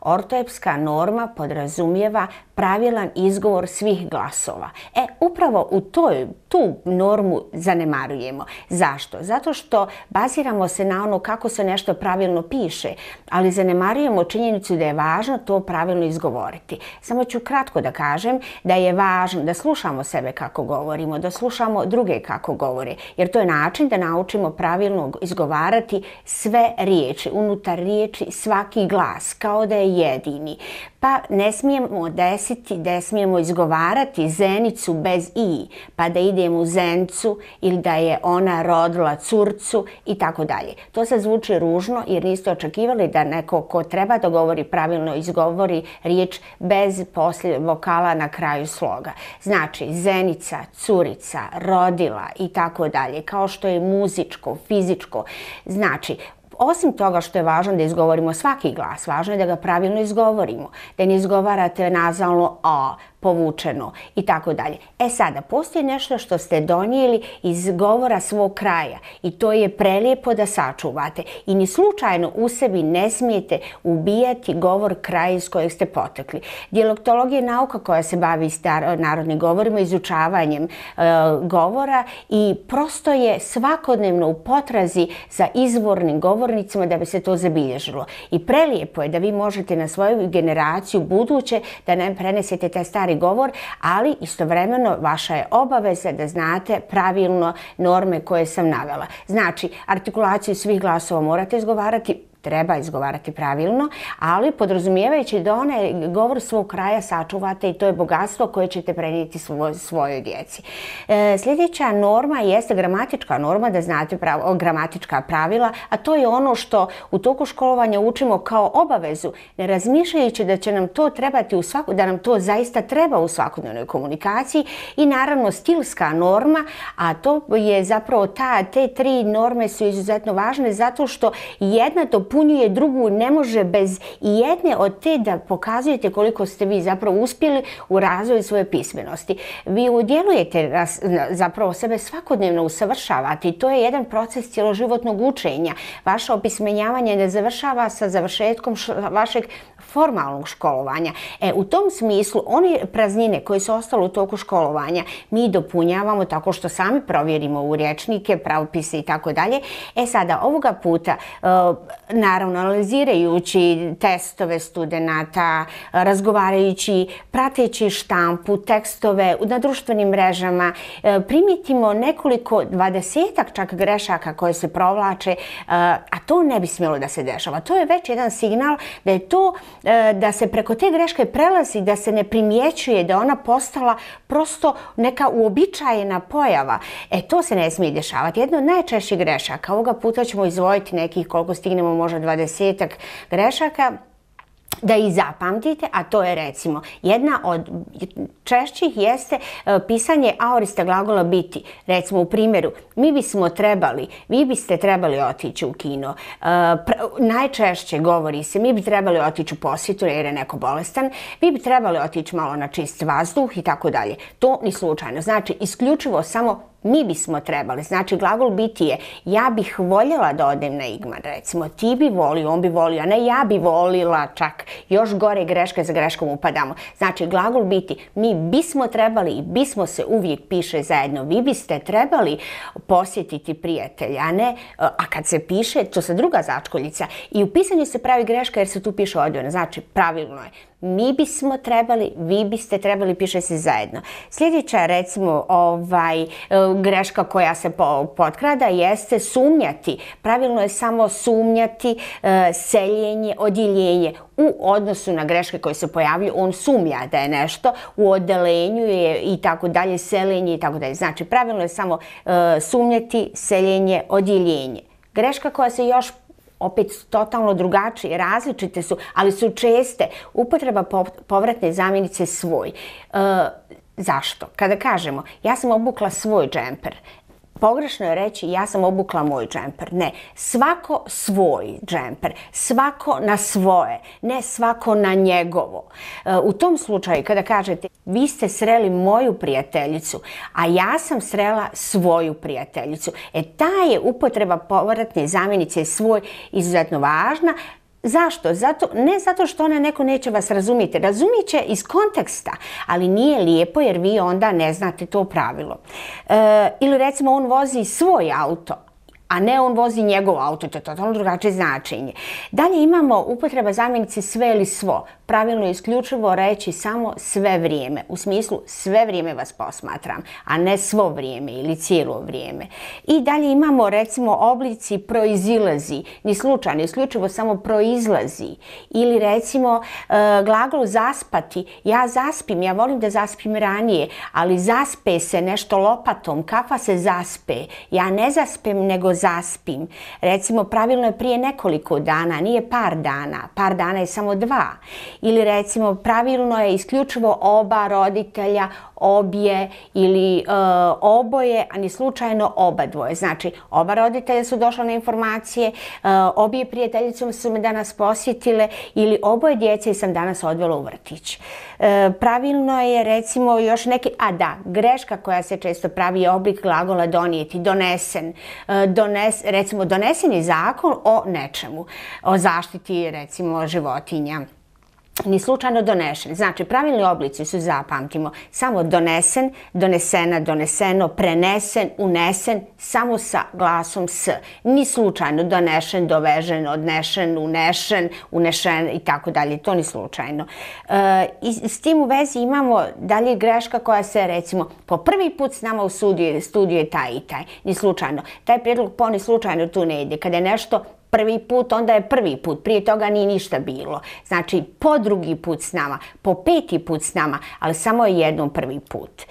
Ortoepska norma podrazumijeva pravilan izgovor svih glasova. Upravo u tu normu zanemarujemo. Zašto? Zato što baziramo se na ono kako se nešto pravilno piše, ali zanemarujemo činjenicu da je važno to pravilno izgovoriti. Samo ću kratko da kažem da je važno da slušamo sebe kako govorimo, da slušamo druge kako govore, jer to je način da naučimo pravilno izgovarati sve riječi, unutar riječi svaki glas, kao da je jedini. Pa ne smijemo desiti, ne smijemo izgovarati zenicu bez i, pa da idemo u zencu ili da je ona rodila curcu i tako dalje. To se zvuči ružno jer niste očekivali da neko ko treba da govori pravilno izgovori riječ bez poslije vokala na kraju sloga. Znači zenica, curica, rodila i tako dalje, kao što je muzičko, fizičko. Znači, osim toga što je važno da izgovorimo svaki glas, važno je da ga pravilno izgovorimo, da ne izgovarate nazalno a, povučeno i tako dalje. Sada, postoji nešto što ste donijeli iz govora svog kraja i to je prelijepo da sačuvate i ni slučajno u sebi ne smijete ubijati govor kraja iz kojeg ste potekli. Dijalektologija je nauka koja se bavi narodnim govorima, izučavanjem govora i prosto je svakodnevno u potrazi za izvornim govornicima da bi se to zabilježilo. I prelijepo je da vi možete na svoju generaciju buduće da ne prenesete taj stari govor, ali istovremeno vaša je obaveza da znate pravilno norme koje sam navela. Znači, artikulaciju svih glasova morate izgovarati, treba izgovarati pravilno, ali podrazumijevajući da onaj govor svog kraja sačuvate i to je bogatstvo koje ćete prenijeti svojoj djeci. Sljedeća norma jeste gramatička norma, da znate gramatička pravila, a to je ono što u toku školovanja učimo kao obavezu, ne razmišljajući da će nam to trebati da nam to zaista treba u svakodnevnoj komunikaciji i naravno stilska norma, a to je zapravo te tri norme su izuzetno važne zato što jedna dopunjuje drugu, ne može bez jedne od te da pokazujete koliko ste vi zapravo uspjeli u razvoju svoje pismenosti. Vi udjelujete zapravo sebe svakodnevno usavršavate i to je jedan proces cjeloživotnog učenja. Vaše opismenjavanje ne završava sa završetkom vašeg formalnog školovanja. U tom smislu, one praznine koje su ostale u toku školovanja mi dopunjavamo tako što sami provjerimo u rječnike, pravopise i tako dalje. Sada, ovoga puta, naravno, analizirajući testove studenata, razgovarajući, prateći štampu, tekstove na društvenim mrežama, primijetimo nekoliko 20-ak čak grešaka koje se provlače, a to ne bi smjelo da se dešava. To je već jedan signal da je to da se preko te greške prelazi, da se ne primjećuje, da ona postala prosto neka uobičajena pojava. To se ne smije dešavati. Jedna od najčešćih grešaka, ovoga puta ćemo izdvojiti nekih koliko stignemo, možda 20-ak grešaka, da ih zapamtite, a to je recimo jedna od češćih jeste pisanje aorista glagola biti. Recimo u primjeru mi bismo trebali, vi biste trebali otići u kino. Najčešće govori se mi bi trebali otići u posjetu jer je neko bolestan, vi bi trebali otići malo na čist vazduh i tako dalje. To ni slučajno. Znači isključivo samo mi bismo trebali. Znači glagol biti je ja bih voljela da odem na Igman, recimo. Ti bi volio, on bi volio, a ne ja bi volila čak. Još gore greške za greškom upadamo. Znači glagol biti mi bismo trebali i bismo se uvijek piše zajedno. Vi biste trebali posjetiti prijatelja, a ne, a kad se piše, to se druga začkoljica. I u pisanju se pravi greška jer se tu piše odvojeno. Znači pravilno je. Mi bismo trebali, vi biste trebali, piše se zajedno. Sljedeća, recimo, greška koja se potkrada jeste sumnjati. Pravilno je samo sumnjati, seljenje, odjeljenje. U odnosu na greške koje se pojavljuju, on sumnja da je nešto, u odelenju je i tako dalje, seljenje i tako dalje. Znači, pravilno je samo sumnjati, seljenje, odjeljenje. Greška koja se još opet totalno drugačije, različite su, ali su česte. Upotreba povratne zamjenice svoj. Zašto? Kada kažemo ja sam obukla svoj džemper, pogrešno je reći ja sam obukla moj džemper. Ne, svako svoj džemper, svako na svoje, ne svako na njegovo. U tom slučaju kada kažete vi ste sreli moju prijateljicu, a ja sam srela svoju prijateljicu, ta je upotreba povratne zamjenice svoj izuzetno važna. Zašto? Ne zato što ona neko neće vas razumjeti. Razumjet će iz konteksta, ali nije lijepo jer vi onda ne znate to pravilo. Ili recimo on vozi svoj auto, a ne on vozi njegov auto, to je totalno drugačije značenje. Dalje imamo upotreba zamjenice sve ili svo. Pravilno je isključivo reći samo sve vrijeme. U smislu sve vrijeme vas posmatram, a ne svo vrijeme ili cijelo vrijeme. I dalje imamo recimo oblici proizilazi. Ni slučajno, isključivo samo proizlazi. Ili recimo glagol zaspati. Ja zaspim, ja volim da zaspim ranije, ali zaspe se nešto lopatom. Kakva se zaspe? Ja ne zaspem, nego zaspim. Recimo, pravilno je prije nekoliko dana, nije par dana. Par dana je samo 2. Ili recimo, pravilno je isključivo oba roditelja, obje ili oboje, a ni slučajno oba dvoje. Znači, oba roditelja su došla na informacije, obje prijateljicom su me danas posjetile ili oboje djece sam danas odvela u vrtić. Pravilno je recimo još neki, greška koja se često pravi je oblik glagola donijeti, donesen. Recimo, donesen je zakon o nečemu, o zaštiti recimo životinja. Ni slučajno donešen. Znači, pravilni oblici su, zapamtimo, samo donesen, donesena, doneseno, prenesen, unesen, samo sa glasom s. Ni slučajno donešen, dovežen, odnešen, unešen, unešen i tako dalje. To ni slučajno. I s tim u vezi imamo dalje greška koja se, recimo, po prvi put s nama u studiju je taj i taj. Ni slučajno. Taj prijedlog po ni slučajno tu ne ide. Kada je nešto prvi put, onda je prvi put. Prije toga nije ništa bilo. Znači, po drugi put s nama, po 5. put s nama, ali samo je jednom prvi put.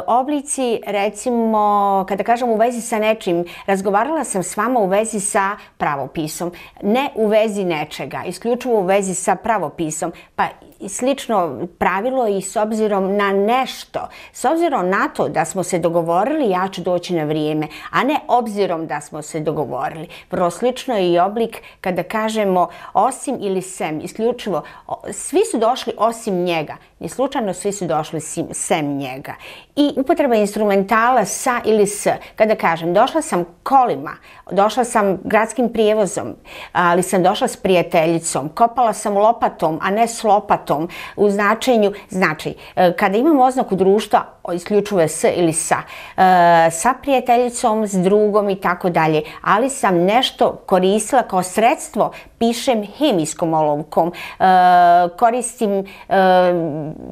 Oblici, recimo, kada kažem u vezi sa nečim, razgovarala sam s vama u vezi sa pravopisom. Ne u vezi nečega, isključivo u vezi sa pravopisom. Pa slično pravilo i s obzirom na nešto. S obzirom na to da smo se dogovorili, ja ću doći na vrijeme, a ne obzirom da smo se dogovorili. Vrlo slično je i oblik kada kažemo osim ili sem, isključivo. Svi su došli osim njega. Ni slučajno svi su došli sem njega. I upotreba instrumentala sa ili s. Kada kažem došla sam kolima, došla sam gradskim prijevozom, ali sam došla s prijateljicom, kopala sam lopatom, a ne s lopatom. U značenju, znači, kada imamo oznaku društva, isključivo je s ili sa prijateljicom, s drugom i tako dalje, ali sam nešto koristila kao sredstvo, pišem hemijskom olovkom, koristim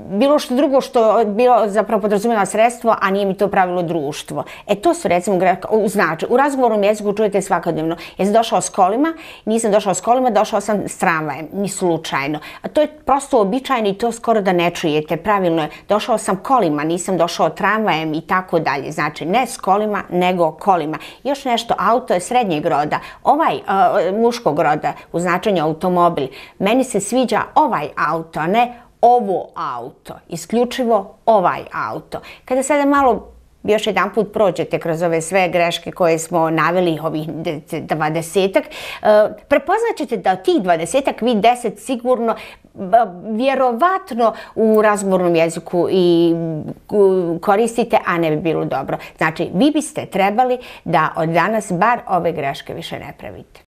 bilo što drugo što bilo zapravo podrazumijeva sredstvo, a nije mi to pravilo društvo. To su recimo znači, u razgovornom jeziku čujete svakodnevno. Jesam došao s kolima, nisam došao s kolima, došao sam s tramvajem, ni slučajno. A to je prosto uobičajeno i to skoro da ne čujete. Pravilno je, došao sam kolima, nisam došao tramvajem i tako dalje. Znači, ne s kolima, nego kolima. Još nešto, auto je srednjeg roda. Ovaj muškog roda u značenju automobil. Meni se sviđa ovaj auto, a ne ovo auto. Isključivo ovaj auto. Kada sada malo još jedan put prođete kroz ove sve greške koje smo naveli, ovih 20-ak, prepoznat ćete da od tih 20-ak vi 10 sigurno vjerovatno u razgovornom jeziku i koristite, a ne bi bilo dobro. Znači, vi biste trebali da od danas bar ove greške više ne pravite.